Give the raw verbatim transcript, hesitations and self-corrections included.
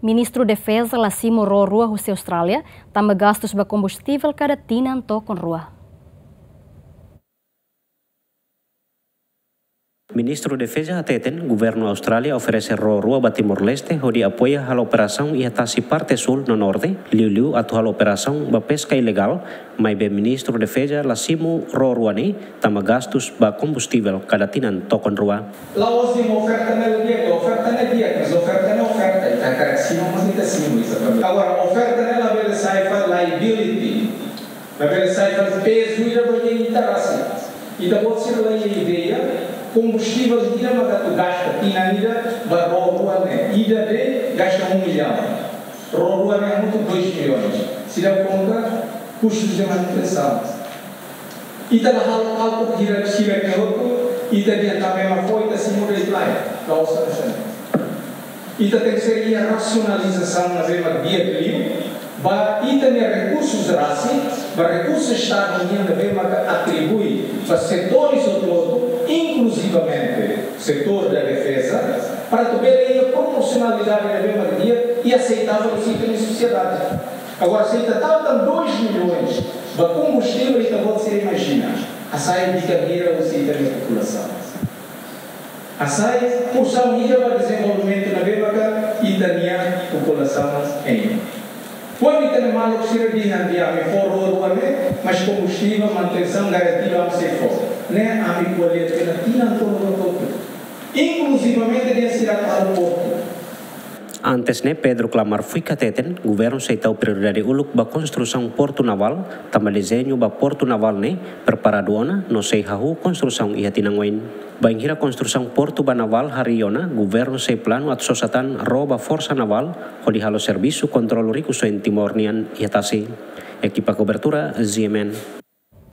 Ministru Defeza la simu ró rua husi Austrália, tanba gastus ba kombustivel kada tinan tokon rua. Ministru Defeza hateten, governu Austrália oferese ró rua ba Timor-Leste hodi apoia halo operasaun iha tasi parte súl no norte, liuliu atu halo operasaun ba peska ilegál, maibé Ministru Defeza la simu ró rua ne'e, tanba gastus ba kombustivel kada tinan tokon rua. La'ós dehan oferta ne'e la di'ak, oferta ne'e di'ak, mas oferta ne'e oferta, ita hakarak simu, mas ita simu, ita simu. Agora, oferta ne'e labele sai fali liability, labele sai fali pezu ida ba ita rasik. Ita-boot sira la iha ideia, kombustivel ida maka atu gasta tinan ida ba ró rua ne'e, ida de'it gasta um milhão. Ró rua ne'e hamutuk dois milhões. Sira konta custos de manutenção. Ita la halo kálkulu hira sira ke hotu, ita dehan tanba ema fó, ita simu de'it lae, la'ós hanesan ne'e. Ita tenke ser iha rasionalizasaun ne'ebé mak di'ak liu, ba ita-nia rekursus rasik, ba rekursu Estadu nian ne'ebé maka atribui ba setores hotu-hotu, inkluzivamente setór da defeza, para atu bele iha proporsionalidade ne'ebé mak di'ak i aseitável husi ita-nia sosiedade. Agora, se ita tau tan dois milhões ba kombustivel, ita-boot sira imajina, hasai di'ak hira husi ita-nia populasaun. Hasai porsaun hira ba dezenvolvimentu ne'ebé maka ita-nia populasaun hein. Kuandu ita-nia maluk sira dehan dehan ami fó ró rua ne'e, mas kombustivel, manutensaun garantidu ami sei fó. Ne'e ami ko'alia tiha ona tinan tolu hotu-hotu. Inkluzivamente dehan sira atu halo portu. Antes ne'e, Pedro Klamar Fuik hateten, governu sei tau prioridade uluk ba konstrusaun portu navál, tanba dezeñu ba portu navál ne'e preparadu ona no sei hahú konstrusaun iha tinan oin. Bainhira konstrusaun portu ba navál harii ona, governu sei planu atu sosa tan ró ba Forsa Navál hodi halo servisu kontrolu rikusoin Timor nian iha tasi. Ekipa kobertura, Z M N.